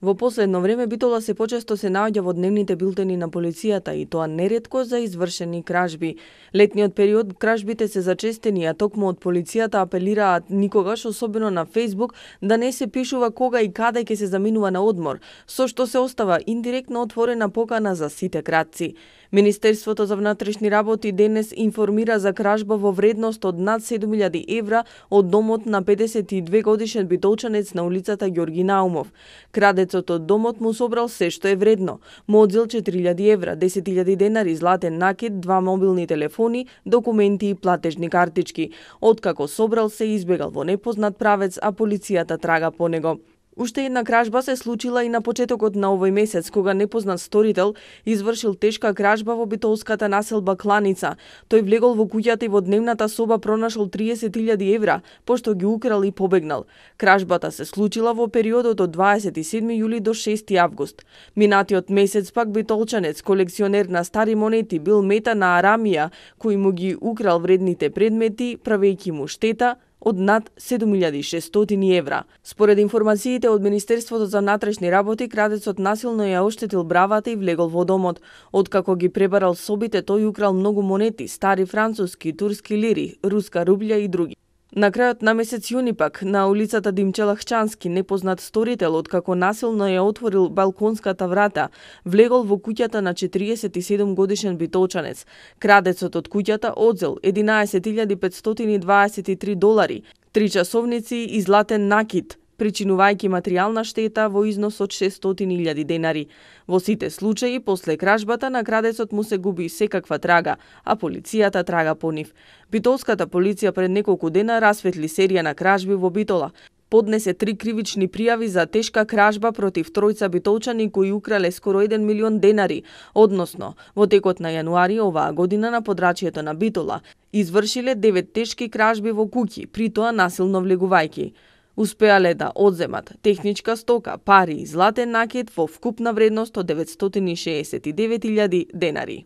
Во последно време Битола се почесто се наоѓа во дневните билтени на полицијата и тоа неретко за извршени кражби. Летниот период кражбите се зачестени, а токму од полицијата апелираат никогаш, особено на Facebook, да не се пишува кога и каде ќе се заминува на одмор, со што се остава индиректно отворена покана за сите кратци. Министерството за внатрешни работи денес информира за кражба во вредност од над 7.000 евра од домот на 52 годишен битолчанец на улицата Ѓорги Наумов. Крадецот од домот му собрал се што е вредно. Му одзел 4.000 евра, 10.000 денари, златен накид, 2 мобилни телефони, документи и платежни картички. Откако собрал се избегал во непознат правец, а полицијата трага по него. Уште една кражба се случила и на почетокот на овој месец, кога непознат сторител извршил тешка кражба во битолската населба Кланица. Тој влегол во куќата и во дневната соба пронашол 30.000 евра, пошто ги украл и побегнал. Кражбата се случила во периодот од 27 јули до 6 август. Минатиот месец пак битолчанец, колекционер на стари монети, бил мета на Арамија, кој му ги украл вредните предмети, правејќи му штета од над 7.600 евра. Според информациите од Министерството за внатрешни работи, крадецот насилно ја оштетил бравата и влегол во домот. Откако ги пребарал собите, тој украл многу монети, стари француски, турски лири, руска рублја и други. На крајот на месец јуни пак, на улицата Димче Лахчански, непознат сторител, откако насилно ја отворил балконската врата, влегол во куќата на 47 годишен битолчанец. Крадецот од куќата одзел 11.523 долари, 3 часовници и златен накид, причинувајќи материјална штета во износ од 600.000 денари. Во сите случаи, после кражбата на крадецот му се губи секаква трага, а полицијата трага по нив. Битолската полиција пред неколку дена расветли серија на кражби во Битола. Поднесе 3 кривични пријави за тешка кражба против тројца битолчани кои украле скоро 1 милион денари, односно, во текот на јануари оваа година на подрачјето на Битола, извршиле 9 тешки кражби во куќи, при тоа насилно влегувајќи. Успеале да одземат техничка стока, пари и златен накид во вкупна вредност од 969.000 денари.